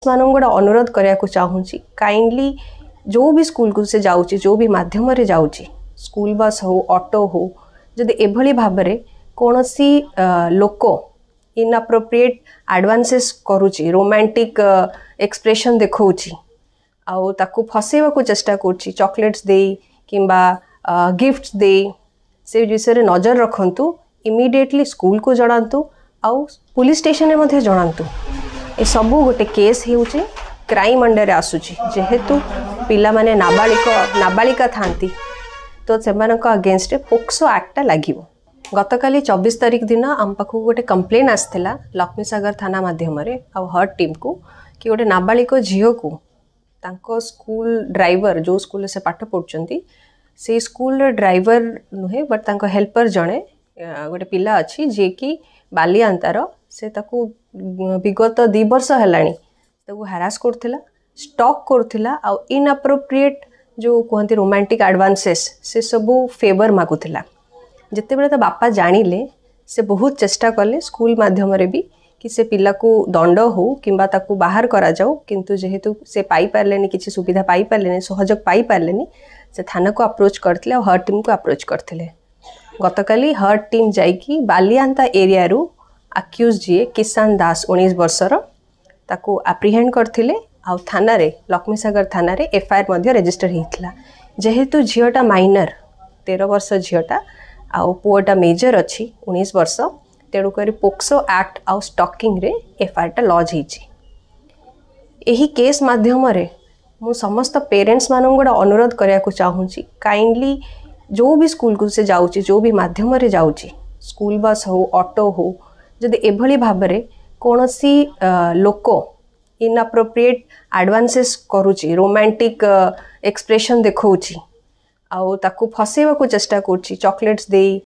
ମାନଙ୍କୁ ଗୋଟେ ଅନୁରୋଧ କରିବାକୁ ଚାହୁଁଛି, କାଇଣ୍ଡଲି ଯେଉଁ ବି ସ୍କୁଲକୁ ସେ ଯାଉଛି, ଯେଉଁ ବି ମାଧ୍ୟମରେ ଯାଉଛି, ସ୍କୁଲ ବସ୍ ହଉ, ଅଟୋ ହଉ, ଯଦି ଏଭଳି ଭାବରେ କୌଣସି ଲୋକ ଇନ୍ଆପ୍ରୋପ୍ରିଏଟ୍ ଆଡ଼ଭାନ୍ସେସ୍ କରୁଛି, ରୋମାଣ୍ଟିକ୍ ଏକ୍ସପ୍ରେସନ୍ ଦେଖାଉଛି ଆଉ ତାକୁ ଫସେଇବାକୁ ଚେଷ୍ଟା କରୁଛି ଚକୋଲେଟ୍ସ ଦେଇ କିମ୍ବା ଗିଫ୍ଟସ୍ ଦେଇ, ସେ ବିଷୟରେ ନଜର ରଖନ୍ତୁ। ଇମିଡ଼ିଏଟଲି ସ୍କୁଲକୁ ଜଣାନ୍ତୁ ଆଉ ପୁଲିସ୍ ଷ୍ଟେସନରେ ମଧ୍ୟ ଜଣାନ୍ତୁ। ଏସବୁ ଗୋଟେ କେସ୍ ହେଉଛି, କ୍ରାଇମ୍ ଅଣ୍ଡରରେ ଆସୁଛି। ଯେହେତୁ ପିଲାମାନେ ନାବାଳିକ ନାବାଳିକା ଥାନ୍ତି, ତ ସେମାନଙ୍କ ଅଗେନଷ୍ଟରେ ପୋକ୍ସୋ ଆକ୍ଟଟା ଲାଗିବ। ଗତକାଲି 24 ତାରିଖ ଦିନ ଆମ ପାଖକୁ ଗୋଟେ କମ୍ପ୍ଲେନ୍ ଆସିଥିଲା ଲକ୍ଷ୍ମୀସାଗର ଥାନା ମାଧ୍ୟମରେ ଆଉ ହର୍ଟ ଟିମ୍କୁ କି ଗୋଟେ ନାବାଳିକ ଝିଅକୁ ତାଙ୍କ ସ୍କୁଲ ଡ୍ରାଇଭର, ଯେଉଁ ସ୍କୁଲରେ ସେ ପାଠ ପଢ଼ୁଛନ୍ତି ସେଇ ସ୍କୁଲର ଡ୍ରାଇଭର ନୁହେଁ, ବଟ୍ ତାଙ୍କ ହେଲ୍ପର ଜଣେ ଗୋଟେ ପିଲା ଅଛି, ଯିଏକି ବାଲିଆନ୍ତାର, ସେ ତାକୁ ବିଗତ 2 ବର୍ଷ ହେଲାଣି ତାକୁ ହାରାସ କରୁଥିଲା, ଷ୍ଟକ୍ କରୁଥିଲା ଆଉ ଇନ୍ଆପ୍ରୋପ୍ରିଏଟ୍ ଯେଉଁ କୁହନ୍ତି ରୋମାଣ୍ଟିକ୍ ଆଡ଼ଭାନ୍ସେସ୍, ସେସବୁ ଫେଭର ମାଗୁଥିଲା। ଯେତେବେଳେ ତା ବାପା ଜାଣିଲେ, ସେ ବହୁତ ଚେଷ୍ଟା କଲେ ସ୍କୁଲ ମାଧ୍ୟମରେ ବି କି ସେ ପିଲାକୁ ଦଣ୍ଡ ହଉ କିମ୍ବା ତାକୁ ବାହାର କରାଯାଉ, କିନ୍ତୁ ଯେହେତୁ ସେ ପାଇପାରିଲେନି, କିଛି ସୁବିଧା ପାଇପାରିଲେନି, ସହଯୋଗ ପାଇପାରିଲେନି, ସେ ଥାନାକୁ ଆପ୍ରୋଚ୍ କରିଥିଲେ ଆଉ ହର୍ଟ ଟିମ୍କୁ ଆପ୍ରୋଚ୍ କରିଥିଲେ। ଗତକାଲି ହର୍ଟ ଟିମ୍ ଯାଇକି ବାଲିଆନ୍ତା ଏରିଆରୁ ଆକ୍ୟୁଜ୍ ଯିଏ କିଷାନ ଦାସ, 19 ବର୍ଷର, ତାକୁ ଆପ୍ରିହେଣ୍ଡ କରିଥିଲେ ଆଉ ଥାନାରେ, ଲକ୍ଷ୍ମୀସାଗର ଥାନାରେ ଏଫଆଇଆର୍ ମଧ୍ୟ ରେଜିଷ୍ଟର ହେଇଥିଲା। ଯେହେତୁ ଝିଅଟା ମାଇନର, 13 ବର୍ଷ ଝିଅଟା, ଆଉ ପୁଅଟା ମେଜର ଅଛି 19 ବର୍ଷ, ତେଣୁକରି ପୋକ୍ସୋ ଆକ୍ଟ ଆଉ ଷ୍ଟକିଂରେ ଏଫଆଇଆର୍ଟା ଲଜ୍ ହେଇଛି। ଏହି କେସ୍ ମାଧ୍ୟମରେ ମୁଁ ସମସ୍ତ ପେରେଣ୍ଟସ୍ମାନଙ୍କୁ ଗୋଟେ ଅନୁରୋଧ କରିବାକୁ ଚାହୁଁଛି, କାଇଣ୍ଡଲି ଯେଉଁ ବି ସ୍କୁଲକୁ ସେ ଯାଉଛି, ଯେଉଁ ବି ମାଧ୍ୟମରେ ଯାଉଛି, ସ୍କୁଲ ବସ୍ ହଉ, ଅଟୋ ହଉ, ଯଦି ଏଭଳି ଭାବରେ କୌଣସି ଲୋକ ଇନ୍ଆପ୍ରୋପ୍ରିଏଟ୍ ଆଡ଼ଭାନ୍ସେସ୍ କରୁଛି, ରୋମାଣ୍ଟିକ୍ ଏକ୍ସପ୍ରେସନ୍ ଦେଖାଉଛି ଆଉ ତାକୁ ଫସେଇବାକୁ ଚେଷ୍ଟା କରୁଛି ଚକୋଲେଟ୍ସ ଦେଇ